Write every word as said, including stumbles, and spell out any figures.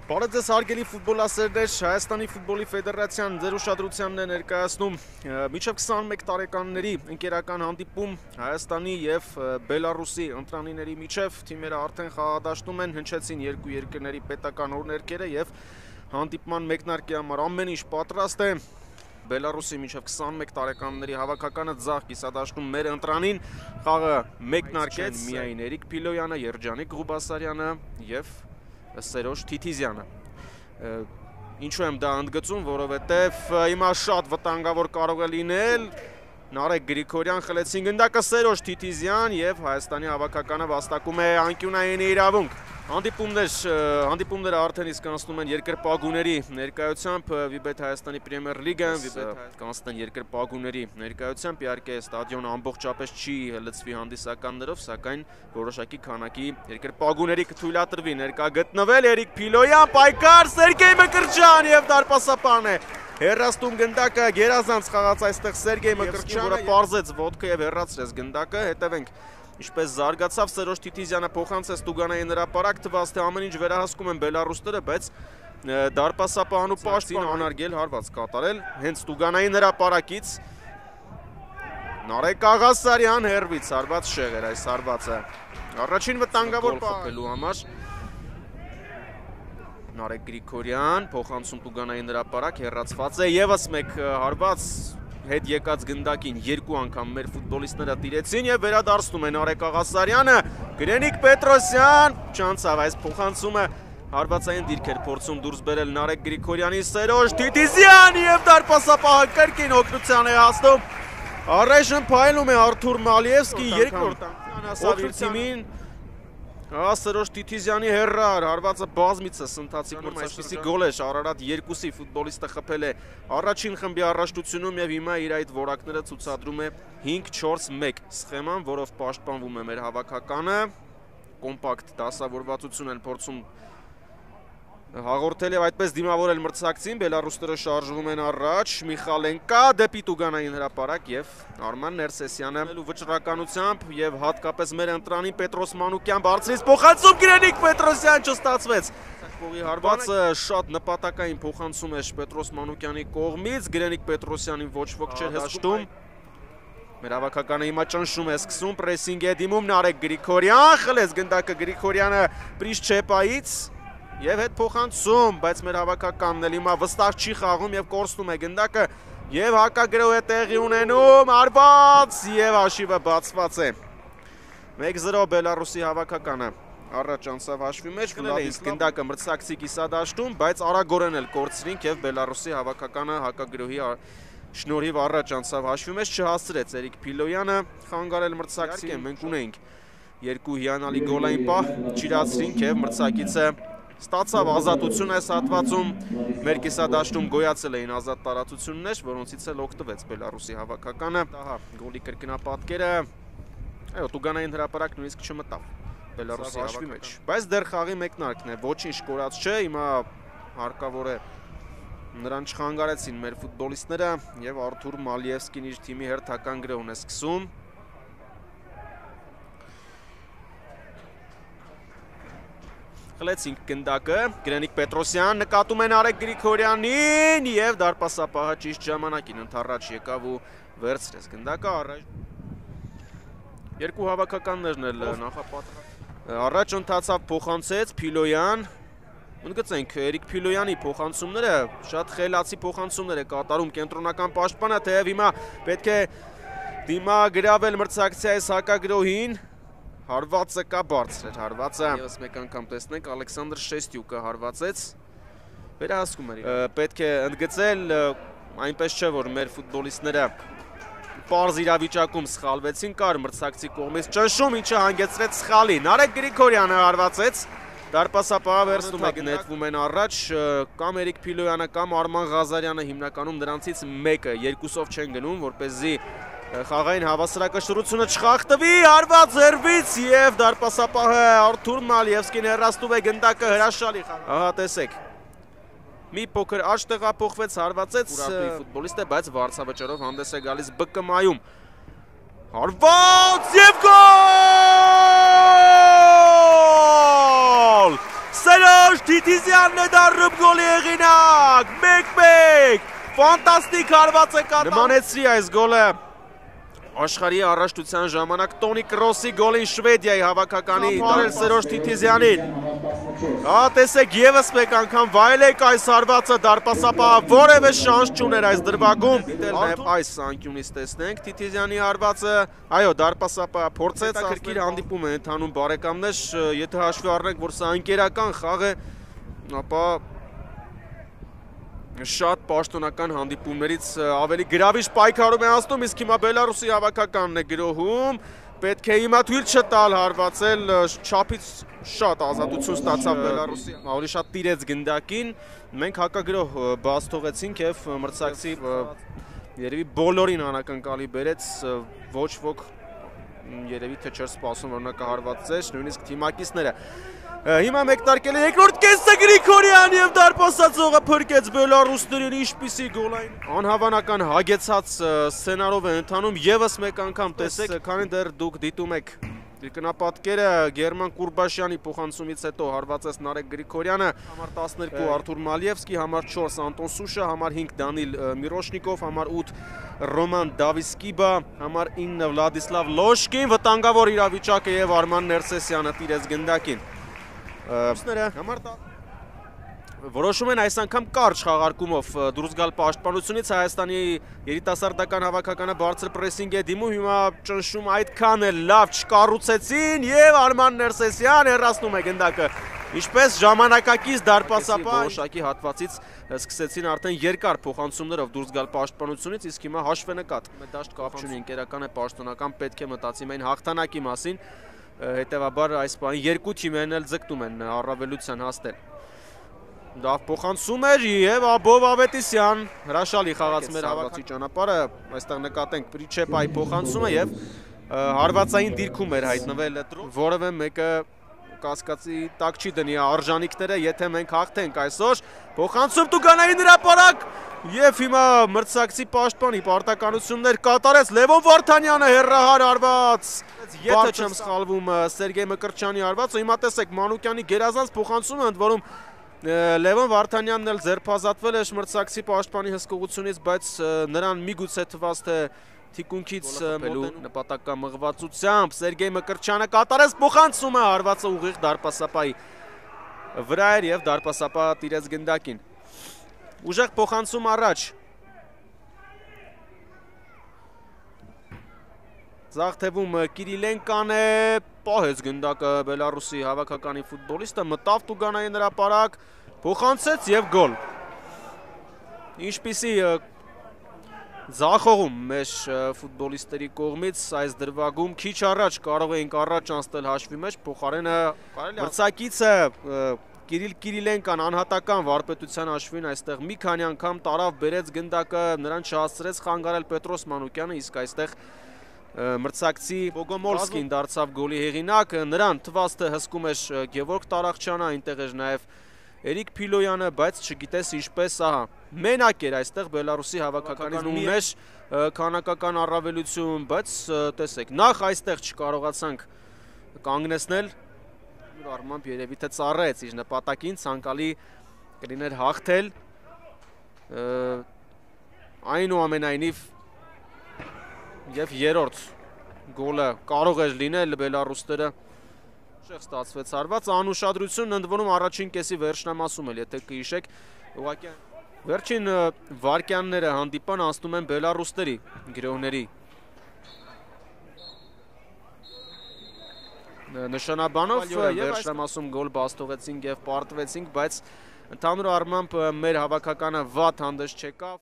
Բարև ձեզ հարգելի ֆուտբոլասերներ, Հայաստանի ֆուտբոլի ֆեդերացիան ձեր ուշադրությանն է ներկայացնում մինչև քսանմեկ տարեկանների ընկերական հանդիպում Հայաստանի եւ Բելարուսի ընտրանիների միջև թիմերը արդեն խաղադաշտում են, հնչեցին երկու երկրների պետական օրհներկերը եւ հանդիպման մեկնարկի համար ամեն ինչ պատրաստ է։ Բելարուսի մինչև քսանմեկ տարեկանների հավաքականը ձախ կիսադաշտում մեր ընտրանին խաղը մեկնարկեց միայն Էրիկ Փիլոյանը, Երջանիկ Ղուբասարյանը եւ Սերոժ Թիթիզյանը։ Ինչու եմ դա ընդգծում, որովհետև հիմա շատ վտանգավոր կարող է լինել Նարեկ Գրիգորյան խլեցին գնդակը Սերոժ Թիթիզյան եւ Հայաստանի հավաքականը վաստակում է անկյունային իրավունք։ Հանդիպումներ, հանդիպումները արդեն իսկ կանցնում են երկրպագուների ներկայությամբ, Վիբեթ Հայաստանի Պրեմիեր լիգան, Վիբեթ կանցնեն երկրպագուների ներկայությամբ, իհարկե ստադիոնը ամբողջապես չի լցվի հանդիսականներով, սակայն որոշակի քանակի երկրպագուների կթույլատրվի ներկա գտնվել, Էրիկ Փիլոյան, պայքար, Սերգեյ Մկրտչյան եւ դարպասապան է։ Հեռաստում գնդակը գերազանց խաղաց այստեղ Սերգեյ Մկրտչյանը, որը պարզեց ոտքը եւ հեռացրեց գնդակը, հետևենք ինչպես զարգացավ Սերոժ Թիթիզյանը փոխանցեց Տուգանային հրապարակ, թվաց թե ամեն ինչ վերահսկում են բելարուսները, բայց դարպասապահն ու պաշտպան անարգել հարված կատարել հենց Տուգանային հրապարակից Նարեկ Աղասարյան հերվից հարված շեղեր այս հարվածը։ Առաջին վտանգավոր խփելու համար Նարեկ Գրիգորյան փոխանցում Տուգանային հրապարակ, հեռացված է եւս մեկ հարված հետ եկած գնդակին երկու անգամ մեր ֆուտբոլիստները տիրեցին եւ վերադարձնում են Նարեկ Աղասարյանը, Գրենիկ Պետրոսյան, չանցավ այս փոխանցումը հարվածային դիրք էր փորձում դուրս բերել Նարեկ Գրիգորյանի, Սերոժ Թիթիզյան եւ դարպասապահը կրկին օգնության է հասնում։ Առայժմ փայլում է Արթուր Մալիևսկի երկրորդ անգամ թիմին։ Սերոժ Թիթիզյանի հեռար, հարվածը բազմիցս ընթացիկ այսպիսի գոլ է Արարատ երկուսի ֆուտբոլիստը խփել է առաջին խմբի առաջնությունում եւ հիմա իր այդ որակները ցուցադրում է հինգ չորս մեկ սխեման, որով պաշտպանվում է մեր հավաքականը, կոմպակտ դասավորվածություն են փորձում հաղորդել եւ այդպես դիմավորել մրցակցին, բելարուսները շարժվում են առաջ, Միխալենկա դեպի Տուգանային հրապարակ եւ Արման Ներսեսյանը վճռականությամբ եւ հատկապես մեր ընտրանին Պետրոս Մանուկյան բարձրից փոխանցում Գրենիկ Պետրոսյան չստացվեց։ Կողի հարվածը շատ նպատակային փոխանցում է Պետրոս Մանուկյանի կողմից, Գրենիկ Պետրոսյանին ոչ ոք չէր հաշտում։ Մեր հավաքականը հիմա ճնշում է սկսում, պրեսինգ է դիմում Նարեկ Գրիգորյան, խլեց գնդակը Գրիգորյանը Պրիշչեպայից եւ հետ փոխանցում, բայց մեր հավաքականն էլ հիմա վստահ չի խաղում եւ կորցնում է գնդակը եւ հակագրոհ է տեղի ունենում, արված եւ հաշիվը բացված է։ մեկ զրո Բելարուսի հավաքականը առաջ անցավ հաշվի մեջ, Վլադիս գնդակը մրցակցի կիսադաշտում, բայց արագորեն էլ կորցրինք եւ Բելարուսի հավաքականը հակագրոհի շնորհիվ առաջ անցավ հաշվի մեջ, չհասցրեց Էրիկ Փիլոյանը խանգարել մրցակցին, մենք ունեինք երկու հիանալի գոլային պահ, չիրացրինք եւ մրցակիցը ստացավ ազատություն այս հատվածում, մեր կիսադաշտում գոյացել էին ազատ տարածություններ, որոնցից էլ օգտվեց Բելարուսի հավաքականը։ Ահա, գոլի կրկնապատկերը, այո, Տուգանային հրապարակ նույնիսկ չմտավ Բելարուսի հաշվի մեջ, բայց դեռ խաղի մեկնարկն է, ոչինչ կորած չէ, հիմա հարկավոր է նրան չխանգարեցին մեր ֆուտբոլիստները եւ Արթուր Մալիևսկին իր թիմի հերթական գրոհն է սկսում։ Խլեցինք գնդակը, Գրենիկ Պետրոսյան նկատում է Նարեկ Գրիգորյանին եւ դարպասապահը ճիշտ ժամանակին ընդառաջ եկավ ու վերցրեց գնդակը առաջ։ Երկու հավաքականներն էլ նախապատրաստված առաջ ընթացավ փոխանցեց Փիլոյան։ Ընդգծենք Էրիկ Փիլոյանի փոխանցումները շատ խելացի փոխանցումներ է կատարում կենտրոնական պաշտպանը, թեև հիմա պետք է դիմագրավել մրցակցի այս հակագրոհին։ Հարվածը կա բարձր էր հարվածը, եւս մեկ անգամ տեսնենք Ալեքսանդր Շեստյուկը հարվածեց, վերահսկում էր, պետք է ընդգծել, այնպես չէ, որ մեր ֆուտբոլիստները պարզ իրավիճակում սխալվեցին, կար մրցակցի կողմից ճնշում, ինչը հանգեցրեց սխալի, Նարեկ Գրիգորյանը հարվածեց, դարպասապահը վերցնում է նետվում են առաջ, կամ Էրիկ Փիլոյանը կամ Արման Ղազարյանը հիմնականում նրանցից մեկը, երկուսով չեն գնում, որպեսզի խաղային հավասարակշռությունը չխախտվի, հարված հերվից եւ դարպասապահը Արթուր Մալիևսկին հեռացնում է գնդակը հրաշալի խաղ։ Ահա տեսեք։ Մի փոքր աճ տեղափոխվեց, հարվածեց ֆուտբոլիստը, բայց վարձավճարով հանդես է գալիս Բ Կ Մ-ում։ Հարված եւ գոլ! Սերոժ Սերոժ Թիթիզյանն է դառնում գոլի հեղինակ, մեկ մեկ, ֆանտաստիկ հարված է կատարում։ Նմանեցրի այս գոլը աշխարհի առաջնության ժամանակ Տոնի Կրոսի գոլին Շվեդիայի հավաքականի տարել Սերոժ Թիթիզյանին։ Հա, տեսեք, եւս մեկ անգամ վայելեք այս հարվածը, դարպասապահը որևէ շանս չուներ այս դրվագում։ Նաև այս անկյունից տեսնենք Թիթիզյանի հարվածը, այո, դարպասապահը փորձեց կրկիր հանդիպում է ընթանում բարեկամներ, եթե հաշվի առնենք, որ սա ընկերական խաղ է, ապա շատ պաշտոնական հանդիպումներից ավելի գրավիչ պայքարում է անցնում, իսկ հիմա Բելարուսի հավաքականն է գրոհում, պետք է հիմա թույլ չտալ հարվածել, չափից շատ ազատություն ստացավ Բելարուսի, ավելի շատ տիրեց գնդակին, մենք հակագրոհ բաց թողեցինք եւ մրցակցի երևի բոլորին անակնկալի բերեց, ոչ ոք երևի թե չէր սպասում, որ նա կհարվածեց, նույնիսկ թիմակիցները։ Հիմա մեկնարկել է երկրորդ կեսը Գրիգորյան եւ դարպասացողը փրկեց բելարուսներին, ինչպիսի գոլային անհավանական հագեցած սցենարով է ընթանում, եւս մեկ անգամ տեսեք, քանի դեռ դուք դիտում եք Կրկնապատկերը Գերման Կուրբաշյանի փոխանցումից հետո հարվածեց Նարեկ Գրիգորյանը, համար տասներկու Արթուր Մալիևսկի, համար չորս Անտոն Սուշը, համար հինգ Դանիլ Միրոշնիկով, համար ութ Ռոման Դավիսկիբա, համար ինը Վլադիսլավ Լոշկին, վտանգավոր իրավիճակը եւ Արման Ներսեսյանը տիրեց գնդակին։ Համար որոշում են այս անգամ կարճ խաղարկումով դուրս գալ պաշտպանությունից, Հայաստանի երիտասարդական հավաքականը բարձր պրեսինգ է դիմում, հիմա ճնշում այդքան է լավ չկառուցեցին եւ Արման Ներսեսյան հեռացնում է գնդակը, ինչպես ժամանակակից դարպասապահ որոշակի հատվածից սկսեցին արդեն երկար փոխանցումներով դուրս գալ պաշտպանությունից, իսկ հիմա հաշվենկատ դաշտ կապ չունի, ընկերական է, պաշտոնական, պետք է մտածի միայն հաղթանակի մասին, հետեւաբար այս բանի երկու թիմերն էլ ձգտում են առավելության հասնել։ Դա փոխանցում էր եւ Աբով Ավետիսյան հրաշալի խաղաց մեր հավաքակի ճանապարհը, այստեղ նկատենք Պրիչեպայի փոխանցումը եւ հարվածային դիրքում էր հայտնվել, որևէ մեկը կասկածի տակ չի դնի արժանինքները, եթե մենք հաղթենք այսօր, փոխանցում Տուգանային հրապարակ եւ հիմա մրցակցի պաշտպանի պարտականություններ կատարեց Լևոն Վարդանյանը հերրահար արված, եթե չեմ սխալվում Սերգեյ Մկրտչյանի արվածը, հիմա տեսեք Մանուկյանի գերազանց փոխանցումը, ընդ որում Լևոն Վարդանյանն էլ ձերբազատվել է մրցակցի պաշտպանի հսկողությունից, բայց նրան միգուցե թվաց թե թիկունքից մոտենու նպատակամղվածությամբ Սերգեյ Մկրտչյանը կատարեց փոխանցումը, հարվածը ուղիղ դարպասապահի վրա էր եւ դարպասապահը տիրեց գնդակին։ Ուժեղ փոխանցում առաջ։ Ձախ թևում Կիրիլենկան է, պահեց գնդակը Բելարուսի հավաքականի ֆուտբոլիստը, մտավ Տուգանային հրապարակ, փոխանցեց եւ գոլ։ Ինչպիսի ձախողում մեր ֆուտբոլիստերի կողմից այս դրվագում քիչ առաջ կարող էինք առաջ անցնել հաշվի մեջ, փոխարենը մրցակիցը Կիրիլ Կիրիլենկան անհատական վարպետության հաշվին այստեղ մի քանի անգամ տարավ բերեց գնդակը, նրան չհասցրեց խանգարել Պետրոս Մանուկյանը, իսկ այստեղ մրցակցի Բոգոմոլսկին դարձավ գոլի հեղինակ, նրան թվաց թե հսկում էր Գևորգ Տարախչյանը, այնտեղ էր նաև Էրիկ Փիլոյանը, բայց չգիտես ինչպես, ահա, մենակ էր այստեղ Բելարուսի հավաքականին ուներ քանակական առավելություն, բայց տեսեք, նախ այստեղ չկարողացանք կանգնեցնել, առմամբ երևի թե ծառայեց իր նպատակին, ցանկալի կլիներ հաղթել, այնուամենայնիվ եւ երրորդ գոլը կարող էր լինել բելարուսները շեղ ստացվեց հարված, անուշադրություն ընդ որում առաջին կեսի վերջնամասում էլ, եթե կհիշեք, ուղղակի վերջին վարկյանները հանդիպան անցնում են բելարուսների գրոհների նշանաբանով վերջնամասում գոլ բաց թողեցինք եւ պարտվեցինք, բայց ընդհանուր առմամբ մեր հավաքականը վատ հանդես չեկավ։